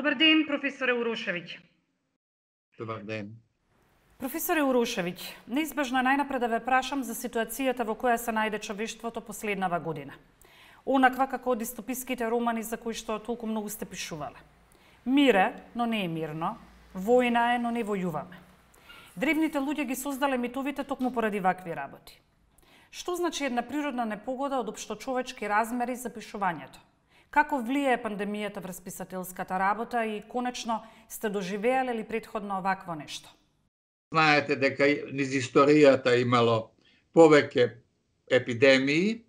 Добар ден, професоре Урошевиќ. Добар ден. Професоре Урошевиќ, неизбежно е најнапред да ве прашам за ситуацијата во која се најде човештвото последнава година. Онаква како дистописките романи за кои што толку многу сте пишувале. Мир е, но не е мирно. Војна е, но не војуваме. Древните луѓе ги создале митовите токму поради вакви работи. Што значи една природна непогода од општочовечки размери за пишувањето? Како влијае пандемијата врз писателската работа и конечно сте доживеале ли претходно овакво нешто? Знаете дека низ историјата имало повеќе епидемии,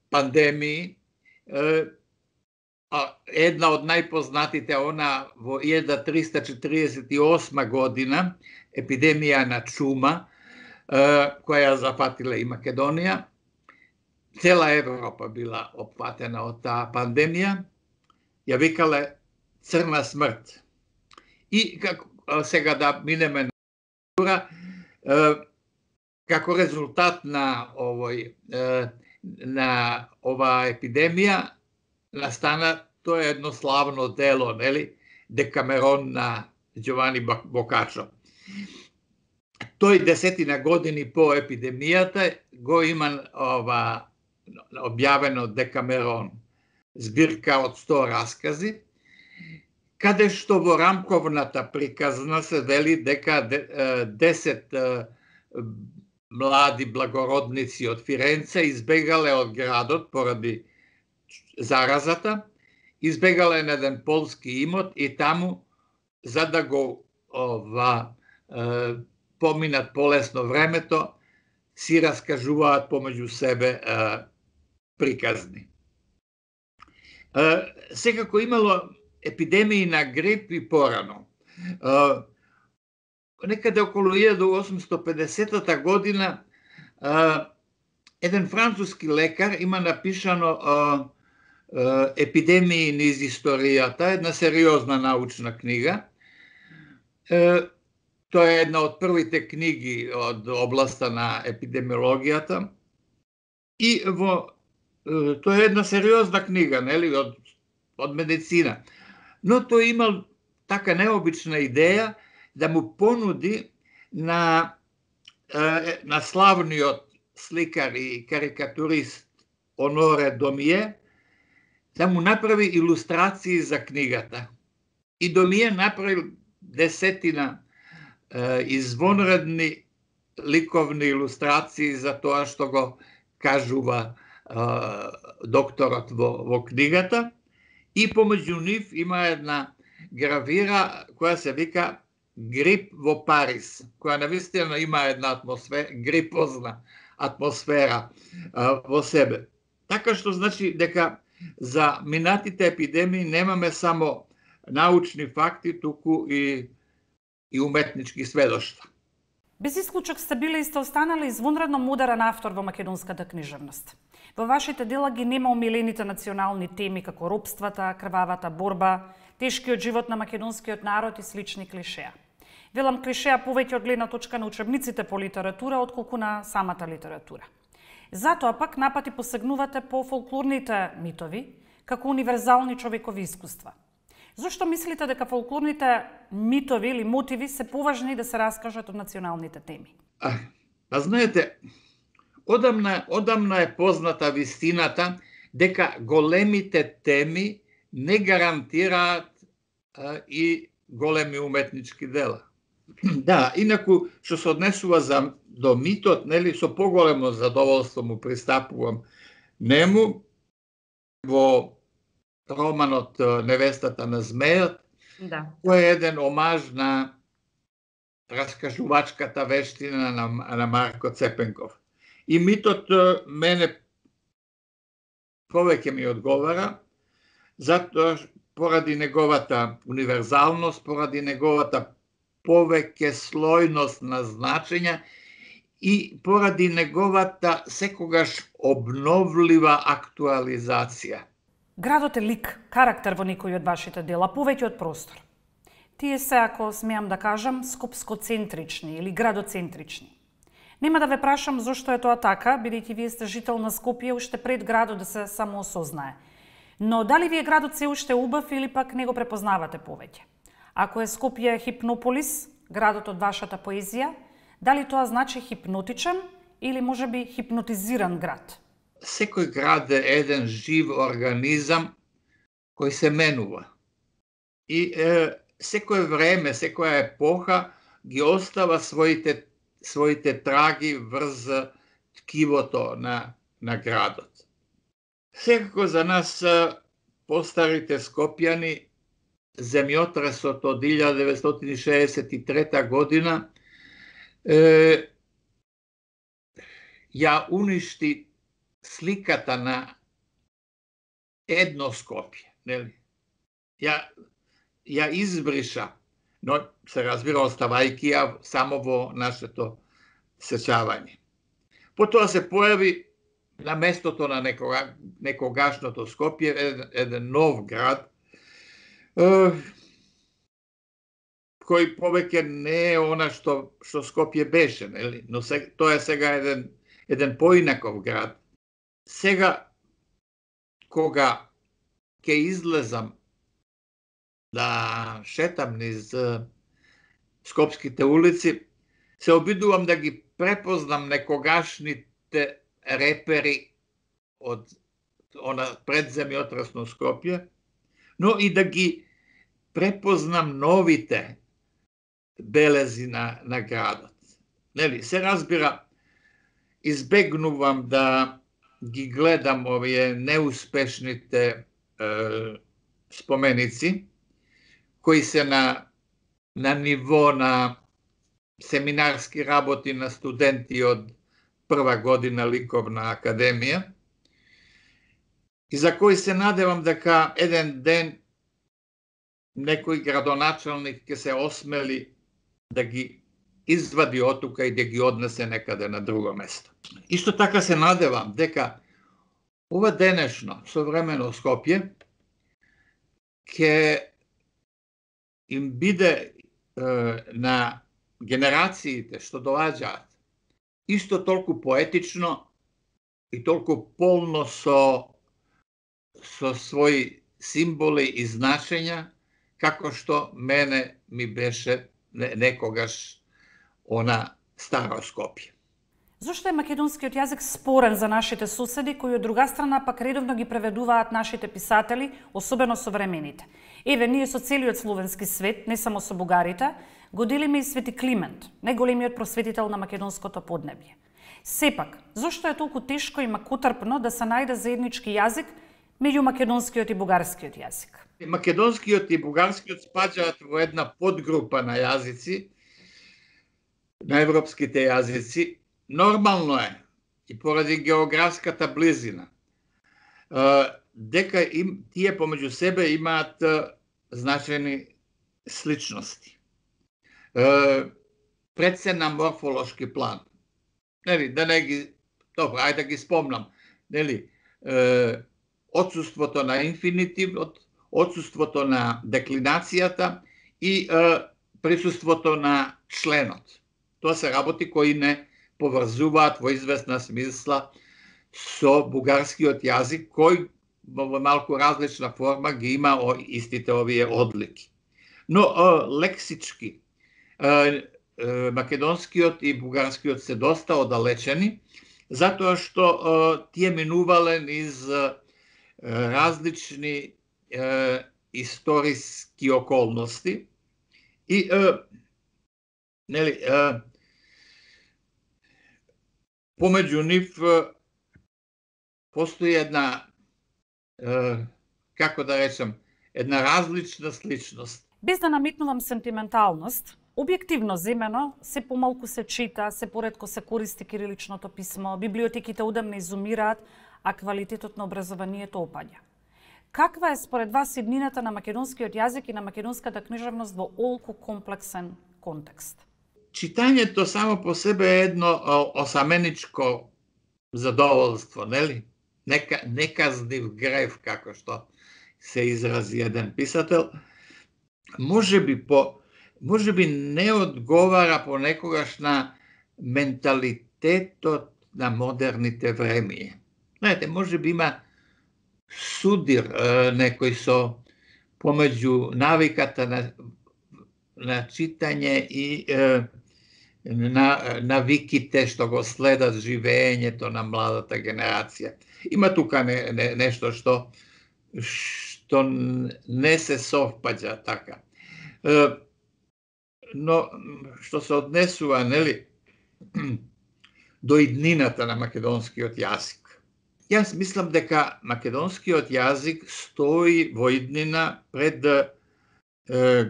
пандемии. Една од најпознатите она во 1348 година, епидемија на чума, која зафатила и Македонија. Цела Европа била опфатена од таа пандемија, ја викале црна смрт. И сега да минеме на како резултат на оваа епидемија настана тоа едно славно дело, нели, Декамерон на Ѓовани Бокачо. Тој 10 години по епидемијата го има објавено Декамерон, збирка од 100 раскази, каде што во рамковната приказна се вели дека 10 млади благородници од Фиренце избегале од градот поради заразата, избегале на еден полски имот и таму, за да го поминат полесно времето, си раскажуваат помеѓу себе приказни. Секако имало епидемии на грип и порано. Некаде околу 1850 година еден француски лекар има напишано епидемии низ историјата, една сериозна научна книга. Тоа е една од првите книги од областа на епидемиологијата. И тоа е една сериозна книга, нели, од медицина. Но тој имал така необична идеја да му понуди на славниот сликар и карикатурист Оноре Домие да му направи илустрации за книгата. И Домие направи 10 извонредни ликовни илустрации за тоа што го кажува докторот во книгата. И помеѓу нив има една гравира која се вика Грип во Париз, која навистина има една грипозна атмосфера во себе. Така што значи дека за минатите епидемии немаме само научни факти, туку и уметнички сведоштва. Без исклучок сте биле и сте останали извонредно мударен автор во македонската книжевност. Во вашите дела ги нема омилените национални теми како робствата, крвавата борба, тешкиот живот на македонскиот народ и слични клишеа. Велам клишеа повеќе од гледна точка на учебниците по литература отколку на самата литература. Затоа пак напати посегнувате по фолклорните митови како универзални човекови искуства. Зошто мислите дека фолклорните митови или мотиви се поважни да се раскажат од националните теми? Знаете, одамна е позната вистината дека големите теми не гарантираат и големи уметнички дела. Да, инаку што се однесува до митот, нели, со поголемо задоволство му пристапувам нему. Во романот Невестата на змејот, кој е еден омаж на раскажувачката вештина на Марко Цепенков. И митот мене повеќе ми одговара, затоа поради неговата универзалност, поради неговата повеќе слојност на значења и поради неговата секогаш обновлива актуализација. Градот е лик, карактер во некој од вашите дела, повеќе од простор. Тие се, ако смеам да кажам, скопскоцентрични или градоцентрични. Нема да ве прашам зошто е тоа така, бидејќи вие сте жител на Скопје уште пред градот да се самоосознае. Но дали ви е градот се уште убав или пак не го препознавате повеќе? Ако е Скопје Хипнополис, градот од вашата поезија, дали тоа значи хипнотичен или можеби хипнотизиран град? Секој град е еден жив организам кој се менува. И секој време, секоја епоха ги остава своите траги врз ткивото на градот. Секако за нас, постарите скопјани, земјотресот од 1963 година ја уништи сликата на едно Скопје, нели? Ја избриша, но се разбира оставајќи ја само во нашето сеќавање. Потоа се појави на местото на некогашното Скопје еден нов град, кој повеќе не е она што Скопје беше, нели? Но тоа е сега еден поинаков град. Сега, кога ќе излезам да шетам низ скопските улици, се обидувам да ги препознам некогашните репери од она предземјотресно Скопје, но и да ги препознам новите белези на градот. Нели, се разбира, избегнувам да ги гледам овие неуспешните споменици, кои се на ниво на семинарски работи на студенти од прва година ликовна академија, и за кои се надевам дека еден ден некој градоначалник ќе се осмели да ги извади оттука и да ги однесе некаде на друго место. Исто така се надевам дека ова денешно современо Скопје ќе им биде на генерациите што доаѓаат исто толку поетично и толку полно со своји символи и значења, како што мене ми беше некогаш она старо Скопје. Зошто е македонскиот јазик спорен за нашите соседи, кои од друга страна пак редовно ги преведуваат нашите писатели, особено современите? Еве, ние со целиот словенски свет, не само со бугарите, го делиме и Свети Климент, најголемиот просветител на македонското поднебје. Сепак, зошто е толку тешко и макотрпно да се најде заеднички јазик меѓу македонскиот и бугарскиот јазик? Македонскиот и бугарскиот спаѓаат во една подгрупа на јазици, на европските јазици. Нормално е, и поради географската близина, дека тие помеѓу себе имаат значајни сличности. Пред се на морфолошки план. Нели, да не ги, добро, ајде да ги спомнам. Нели, отсуството на инфинитивот, отсуството на деклинацијата и присуството на членот. Тоа се работи кои не поврзуваат во известна смисла со бугарскиот јазик, кој во малку различна форма ги има истите овие одлики. Но лексички македонскиот и бугарскиот се доста оддалечени, затоа што тие минувале низ различни историски околности и нели помеѓу нив постои една, како да речем, една различна сличност. Без да наметнувам сентименталност, објективно земено, се помалку се чита, се поретко се користи кириличното писмо, библиотеките одамна изумираат, а квалитетот на образованието опаѓа. Каква е според вас иднината на македонскиот јазик и на македонската книжевност во олку комплексен контекст? Читањето само по себе е едно осаменичко задоволство, нели? Неказнив грев, како што се изрази еден писател, може би не одговара понекогаш на менталитетот на модерните времиња. Знаете, може би има судир некој со помеѓу навиката на читање и навиките што го следат живеењето на младата генерација. Има тука нешто што не се совпаѓа така. Но што се однесува, нели, до иднината на македонскиот јазик. Јас мислам дека македонскиот јазик стои во иднина пред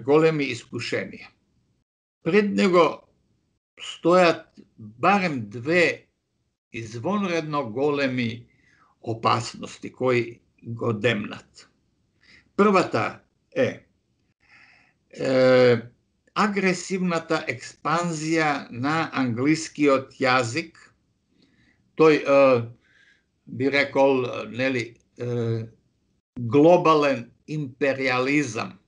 големи искушенија. Пред него стојат барем две извонредно големи опасности кои го демнат. Првата е агресивната експанзија на англискиот јазик. Тој би рекол, нели, глобален империализам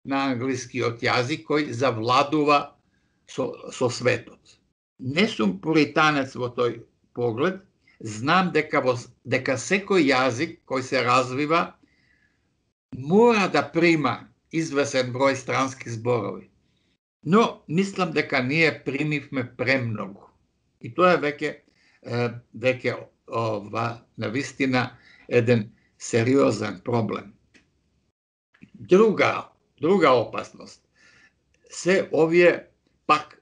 на англискиот јазик кој завладува со светот. Не сум пуританец во тој поглед, знам дека секој јазик кој се развива мора да прима извесен број странски зборови. Но мислам дека ние примивме премногу. И тоа е веќе навистина еден сериозен проблем. Друга опасност се овие пак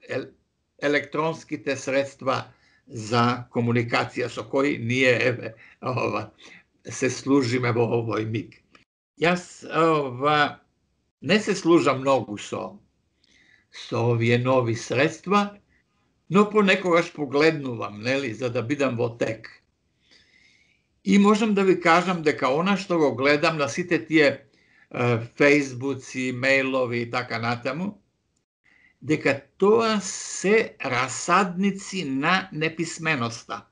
електронските средства за комуникација со кои ние се служиме во овој миг. Јас не се служам многу со овие нови средства, но понекогаш погледнувам, нели, за да бидам во тек. И можам да ви кажам дека она што го гледам на сите тие фејсбуци, мејлови и така натаму, дека тоа се расадници на неписменоста.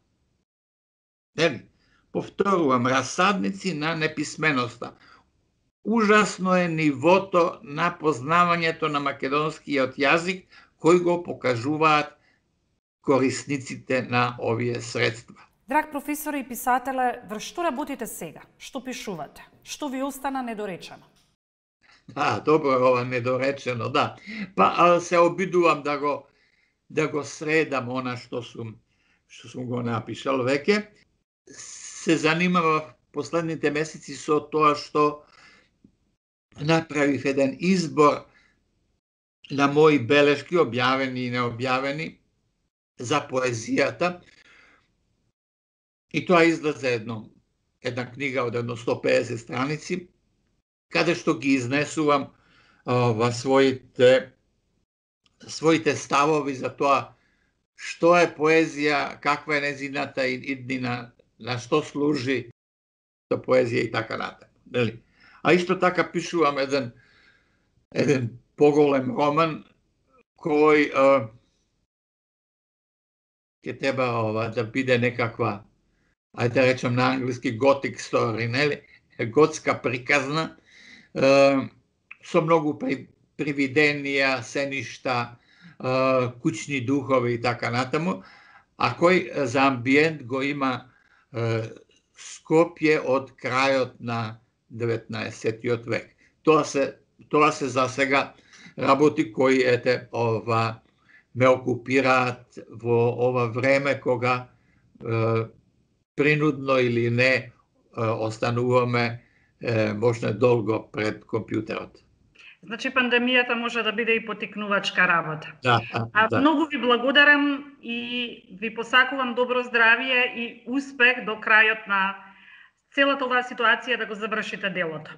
Нели? Повторувам, расадници на неписменоста. Ужасно е нивото на познавањето на македонскиот јазик кој го покажуваат корисниците на овие средства. Драг професор и писателе, врз што работите сега? Што пишувате? Што ви остана недоречено? Добро, ова недоречено, да. Се обидувам да го средам она што сум го напишал веќе. Се занимава в последните месеци со тоа што направив еден избор на мои белешки, објавени и необјавени, за поезијата. И тоа излезе една книга од 150 страници, каде што ги изнесувам своите ставови за тоа што е поезија, каква е незината иднина, на што служи поезија и така натаму. А исто така пишувам еден поголем роман кој ќе треба да биде некаква, ајде да речем на англиски готик стори, нели? Готска приказна, со многу привиденија, сеништа, куќни духови и така натаму, а кој за амбиент го има Скопје од крајот на 19. век. Тоа се за сега работи кои ме окупираат во ова време кога принудно или не остануваме можно долго пред компјутерот. Значи пандемијата може да биде и потикнувачка работа. Да. Многу ви благодарам и ви посакувам добро здравје и успех до крајот на целата оваа ситуација да го завршите делото.